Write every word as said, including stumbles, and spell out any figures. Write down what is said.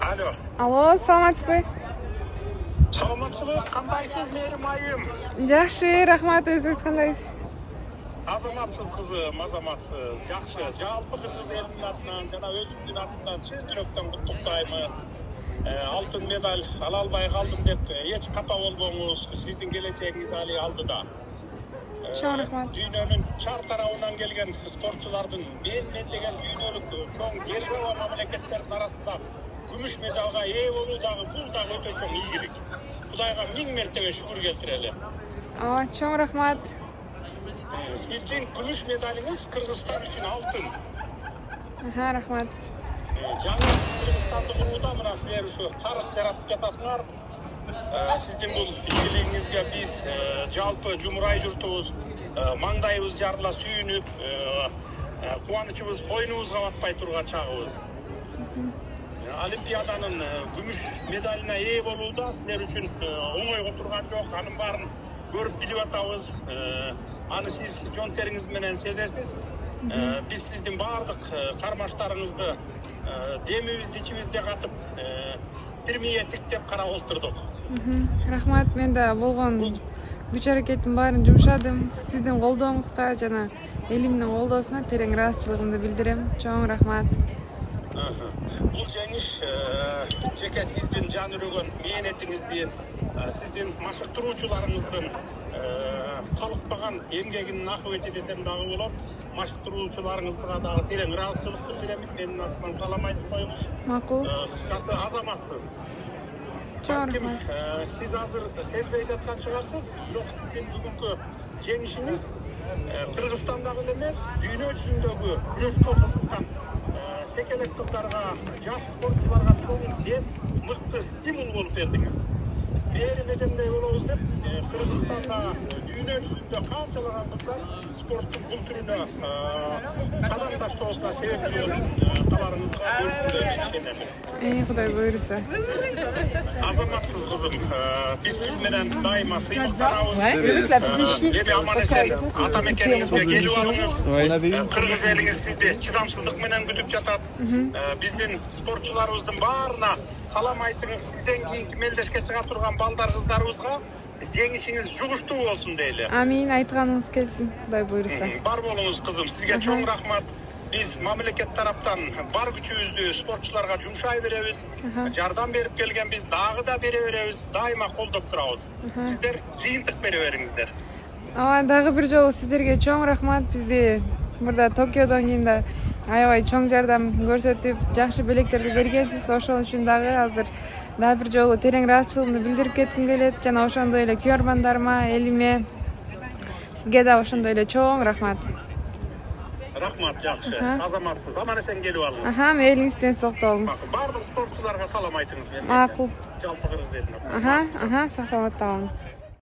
Алло. Алло, саламатсызбы? Саламатсызбы? Кандайсыз, Мээрим айым? Жакшы, рахмат, өзүңүз кандайсыз? Азаматсыз кызым, азаматсыз. Жакшы. Жалпы кыргыз элинин атынан жана өзүмдүн атымдан чын жүрөктөн куттуктаймын. Алтын медаль ала албай калдым деп эч капа болбоңуз. Сиздин келечегиңиз али алдыда. Чоң рахмат. Дүйнөнүн чар тарабынан келген спортчулардын мен мен деген дүйнөлүк чоң держава мамлекеттердин арасында күмүш медалга ээ болуу дагы бул дагы өтө чоң ийгилик. Кудайга миң мертебе шүгүр келтирели. Ооба, чоң рахмат. Сиздин күмүш медалиңиз Кыргызстан үчүн алтын. Аха, рахмат. Жаңы Кыргызстанды курууда мына силер ушу тарых жаратып жатасыңар. Сиздин бул ийгилигиңизге биз жалпы жумурай журтубуз маңдайыбыз жарыла сүйүнүп, кубанычыбыз койнубузга батпай турган чагыбыз. Олимпиаданын күмүш медалине ээ болууда силер үчүн оңойго турган жок. Анын баарын көрүп билип атабыз. Аны сиз жон териңиз менен сезесиз. Биз сиздин баардык кармаштарыңызды демибизди ичибизде катып, бирмиңе тиктеп карап отурдук. Рахмат, мен да болгон күч аракеттин баарын жумшадым. Сиздин колдооңузга жана элимдин колдоосуна терең ыраазычылыгымды билдирем. Чоң рахмат. Бул жеңиш жеке сиздин жан үрөгөн мээнетиңиздин, сиздин машыктыруучуларыңыздын талыкпаган эмгегинин акыбети десем дагы болот. Машыктыруучуларыңызга дагы терең ыраазычылык билдиремин. Менин атыман салам айтып коюңуз. Макул. Кыскасы азаматсыз. Чоң рахмат. Сиз азыр сезбей жаткан чыгарсыз, бирок сиздин бүгүнкү жеңишиңиз Кыргызстандагы эле эмес, дүйнө жүзүндөгү күрөшкө кызыккан секелек кыздарга, жаш спортчуларга чоң дем, мыкты стимул болуп бердиңиз. Мээрим эжемдей болобуз деп, Кыргызстанда дүйнө жүзүндө канчалаган кыздар спорттун бул түрүнө кадам таштоосуна себепчи болуп каларыңызга үмүттөнүп ишенемин. Эй, Кудай буйруса. Азаматсыз кызым, биз сиз менен дайыма сыймыктанабыз. Эми аман эсен ата мекениңизге келип алыңыз. Кыргыз элиңиз сизди чыдамсыздык менен күтүп жатат. Биздин спортчуларыбыздын баарына салам айтыңыз. Сизден кийинки мелдешке чыга турган балдар кыздарыбызга жеңишиңиз жугуштуу болсун дейли. Амин, айтканыңыз келсин. Кудай буйруса. Бар болуңуз кызым. Сизге чоң рахмат. Биз мамлекет тараптан бар күчүбүздү спортчуларга жумшай беребиз. Жардам берип келгенбиз, дагы да бере беребиз. Дайыма колдоп турабыз. Сиздер жыйынтык бере бериңиздер. Ооба, дагы бир жолу сиздерге чоң рахмат. Бизди мурда Токиодон кийин да аябай чоң жардам көрсөтүп, жакшы белектерди бергенсиз. Ошол үчүн дагы азыр дагы бир жолу терең ыраазычылыгымды билдирип кетким келет. Жана ошондой эле күйөрмандарыма, элиме, сизге да ошондой эле чоң рахмат. Рахмат, жакшы. Азаматсыз, аман эсен келип алыңыз. Аха, мээңиз тенчтикте болуңуз. Бардык спортчуларга салам айтыңыз. Макул. Жалпы кыргыз элине. Аха, аха, сак саламатта болуңуз.